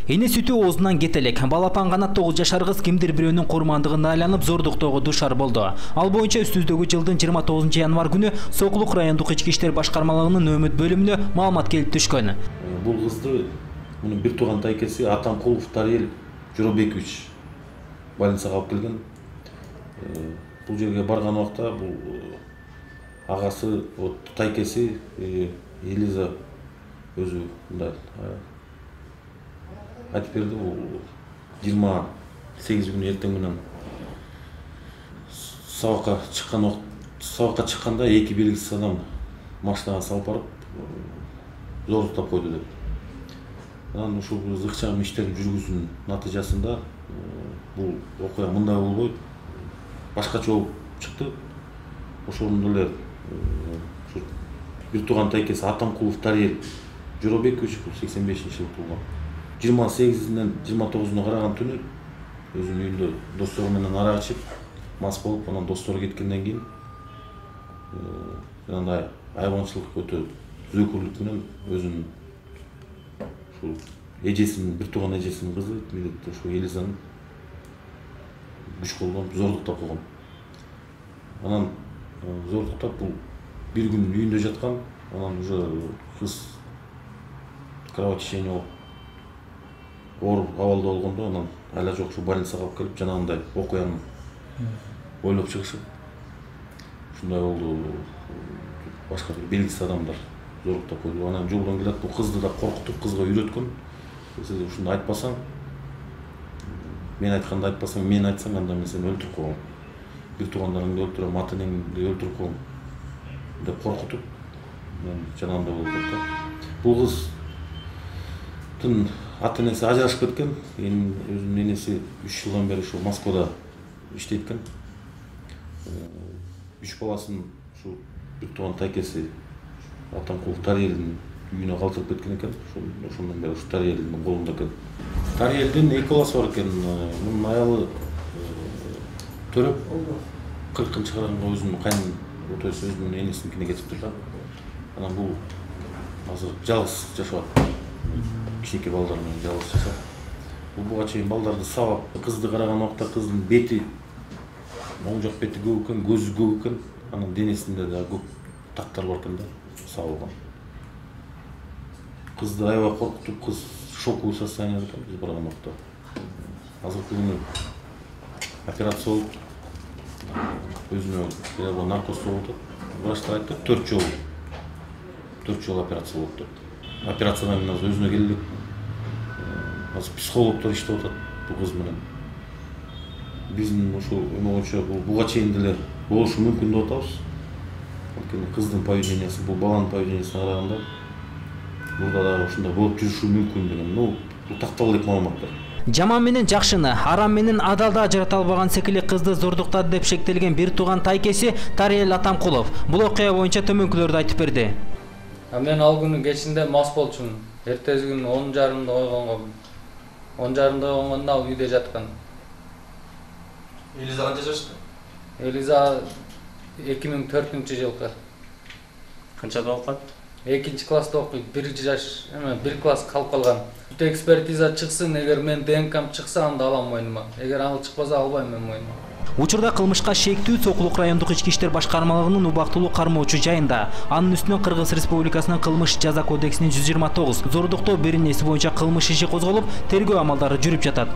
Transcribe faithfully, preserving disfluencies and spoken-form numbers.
Эне сүтү оозунан кете элек. Балапан гана тогуз жашар кыз кимдир бирөөнүн курмандыгына айланып зордуктоого дуушар болду. Ал боюнча үстүбүздөгү жылдын жыйырма тогузунчу январ күнү Сокулук райондук ички иштер башкармалыгынын нөөмөт бөлүмүнө маалымат келип түшкөн. Бул кызды мунун бир тууган тайкеси Атамкулов Тариел Жоробекович больницага алып келген. Бул жерге барган убакта бул агасы, вот тайкеси Элиза өзү мындай айтып берди. Бул жыйырма сегиз күнү эртең менен сабакка чыккан убакт сабакка чыкканда эки белгисиз адам машинага салып барып зордуктап койду деп. Анан ушул ыкчам иштердин жүргүзүүнүн натыйжасында бул окуя мындай болбой башкача болуп чыкты. Ошондо эле бир тууган тайкеси Атамкулов Тариел Жоробекович сексен бешинчи жылы туулган. жыйырма сегизинен жыйырма тогузуна караган түнү өзүнүн үйүндө достору менен арак ичип мас болуп, анан достору кеткенден кийин андай айбанчылык өтө зөөкүрлүк менен өзүнүн ушул эжесинин бир тууган эжесинин кызы ушул Элизаны күч колдонуп зордуктап койгон. Анан зордуктап бул бир күн үйүндө жаткан, анан уже кыз кровотечение болуп оор абалда болгондо анан айла жок ушу больницага алып келип жанагындай окуяны ойлоп чыгышып ушундай болду. Башка бир белгисиз адамдар зордуктап койду. Анан жолдон келет, бул кызды да коркутуп, кызга үйрөткөн. Сен ушуну айтпасаң, мен айтканды айтпасаң, мен айтсаң, анда мен сени өлтүрүп коем. Бир туугандарыңды өлтүрөм, ата энеңди өлтүрүп коем деп коркутуп, мен жанагындай болуп кетти. Бул кыздын ата энеси ажырашып кеткен. Эми өзүнүн энеси үч жылдан бери ушул Москвада иштейт экен. Үч баласын ушул бир тууган тайкеси Атамкулов Тариелдин үйүнө калтырып кеткен экен. Ошондон бери ушу Тариелдин колунда экен. Тариелдин эки баласы бар экен. Мунун аялы төрөп кыркынчы караганга өзүнүн кайын отоосу өзүнүн энесиникине кетиптир да. Анан бул азыр жалгыз жашап атат. Кичинекей балдар менен жалгыз жашап. Бул буга чейин балдарды сабап, кызды караган убакта кыздын бети, оң жак бети көк экен, көзү көк экен. Анан денесинде да көк тактар бар экен да, сабылган. Кызды аябай коркутуп, кыз шоковый состоянияда экен биз барган убакта. Азыркы күнү операция болуп, өзүнө бирок наркоз болуп атат. Врачтар айтты, төрт жолу. төрт жолу операция болот деп. Операциядан кийин азыр өзүнө келди. Азыр психологдор иштеп атат бул кыз менен. Биздин ушул эме боюнча бул буга чейин деле болушу мүмкүн деп атабыз. Анткени кыздын поведениясы, бул баланын поведениясына караганда мурда дагы ушундай болуп жүрүшү мүмкүн деген, ну, бул такталган элек маалыматтар. Жаман менен жакшыны, арам менен адалды ажырата албаган секили кызды зордуктады деп шектелген бир тууган тайкеси Тариел Атамкулов бул окуя боюнча төмөнкүлөрдү айтып берди. Мен ал күнү кечинде мас болчумун. Эртеси күнү он жарымда койгонго. он жарымда койгондо ал үйдө жаткан. Элиза канча жашта? Элиза эки миң төртүнчү жылкы. Канчада окуат? экинчи класста окуйт, бир жаш, эме бир класс калып калган. Бүт экспертиза чыксын, эгер мен ДНКм чыкса анда алам мойнума. Эгер ал чыкпаса албайм мен мойнума. Учурда кылмышка шектүү Сокулук райондук ички иштер башкармалыгынын убактылуу кармоочу жайында. Анын үстүнөн Кыргыз Республикасынын кылмыш жаза кодексинин жүз жыйырма тогуз зордуктоо беренеси боюнча кылмыш иши козголуп, тергөө амалдары жүрүп жатат.